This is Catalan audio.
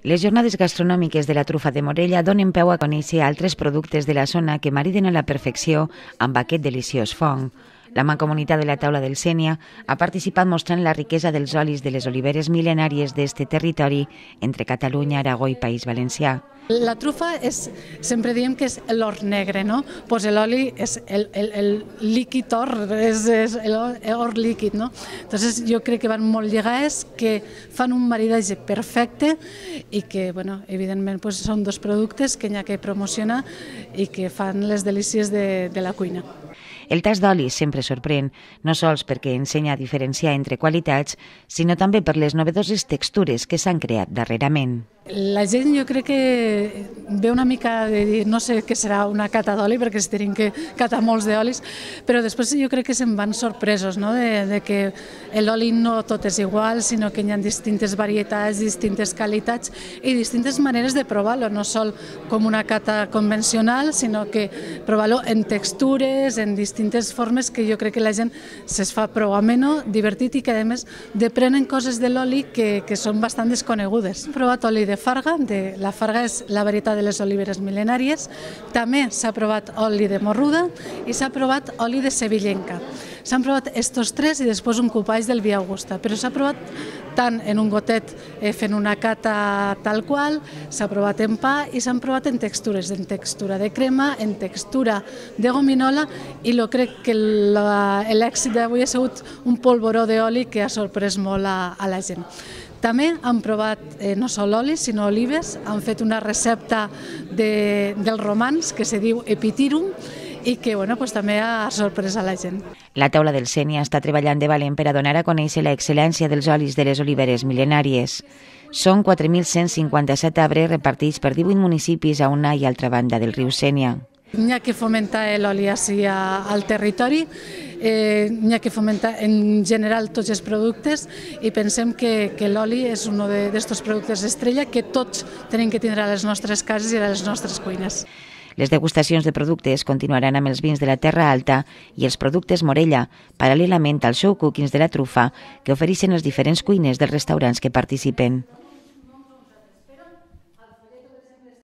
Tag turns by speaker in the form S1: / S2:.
S1: Les jornades gastronòmiques de la trufa de Morella donen peu a conèixer altres productes de la zona que mariden a la perfecció amb aquest deliciós fong. La Mancomunitat de la Taula del Sénia ha participat mostrant la riquesa dels olis de les oliveres mil·lenàries d'este territori entre Catalunya, Aragó i País Valencià.
S2: La trufa sempre diem que és l'or negre, no? Pues l'oli és el líquid or, és l'or líquid, no? Entonces jo crec que van molt lligades, que fan un maridatge perfecte i que, bueno, evidentment, pues, són dos productes que n'hi ha que promocionar i que fan les delícies de la cuina.
S1: El tast d'oli sempre sorprèn, no sols perquè ensenya a diferenciar entre qualitats, sinó també per les novedoses textures que s'han creat darrerament.
S2: La gent jo crec que ve una mica de dir, no sé què serà una cata d'oli, perquè es tenim que catar molts d'olis, però després jo crec que se'n van sorpresos, no? de que l'oli no tot és igual, sinó que hi ha distintes varietats, distintes qualitats i distintes maneres de provar-lo, no sol com una cata convencional, sinó que provar-lo en textures, en distintes formes que jo crec que la gent se'ls fa prou ameno, divertit i que a més deprenen coses de l'oli que són bastant desconegudes. Hem provat oli de farga, la farga és la varietat de les oliveres mil·lenàries, també s'ha provat oli de morruda i s'ha provat oli de sevillenca. S'han provat estos tres i després un copall del Via Augusta, però s'ha provat tant en un gotet fent una cata tal qual, s'ha provat en pa i s'han provat en textures, en textura de crema, en textura de gominola i crec que l'èxit d'avui ha sigut un polvoró d'oli que ha sorprès molt a la gent. També han provat no sol oli, sinó olives, han fet una recepta dels romans que se diu epitirum i que també ha sorprès a la gent.
S1: La Taula del Sénia està treballant de valent per a donar a conèixer l'excel·lència dels olis de les oliveres mil·lenàries. Són 4.157 arbres repartits per 18 municipis a una i altra banda del riu Sénia.
S2: N'hi ha que fomentar l'oli ací al territori, n'hi ha que fomentar en general tots els productes i pensem que l'oli és un d'aquests productes estrella que tots tenim que tindre a les nostres cases i a les nostres cuines.
S1: Les degustacions de productes continuaran amb els vins de la Terra Alta i els productes Morella, paral·lelament al show cookings de la trufa que ofereixen les diferents cuines dels restaurants que participen.